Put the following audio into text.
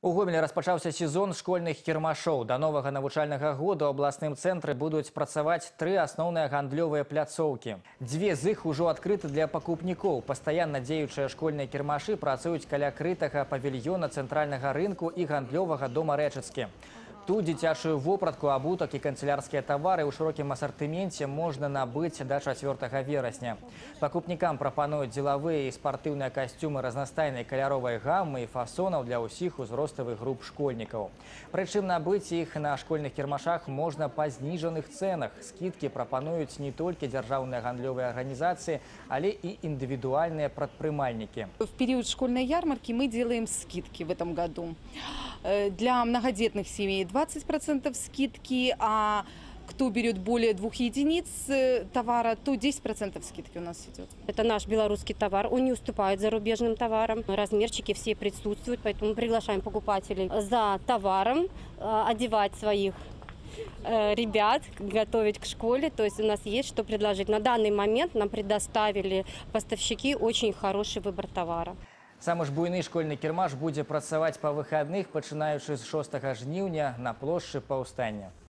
У Гомелі распачаўся сезон школьных кірмашоў. Да новага навучальнага года ў абласным цэнтры будуць працаваць 3 асноўныя гандлёвыя пляцоўкі. 2 з іх ужо адкрыты для пакупнікоў. Пастаянна дзеючыя школьныя кірмашы працуюць каля крытага павільёна цэнтральнага рынку і гандлёвага дома Рэчыцкі. Тут дзіцячую вопратку, абутак і канцелярскія тавары ў шырокім асартыменце можна набыць да 4 верасня. Пакупнікам прапануюць дзелавыя і спартыўныя касцюмы разнастайнай каляровай гаммы і фасонаў для ўсіх узроставых груп школьнікаў. Прычым набыць іх на школьных кірмашах можна па зніжаных цэнах. Скидкі прапануюць не толькі дзяржаўныя гандлёвыя арганізацыі, але і індывідуальныя прадпрымальнікі. В период школьной ярмарки мы делаем скидки в этом году. Для многодетных семей 20% скидки, а кто берет более 2 единиц товара, то 10% скидки у нас идет. Это наш белорусский товар, он не уступает зарубежным товарам. Размерчики все присутствуют, поэтому приглашаем покупателей за товаром одевать своих ребят, готовить к школе. То есть у нас есть что предложить. На данный момент нам предоставили поставщики очень хороший выбор товара. Самы ж буйны школьны кірмаш будзе працаваць па выхадных, пачынаючы з 6 жніўня на плошчы Паўстання.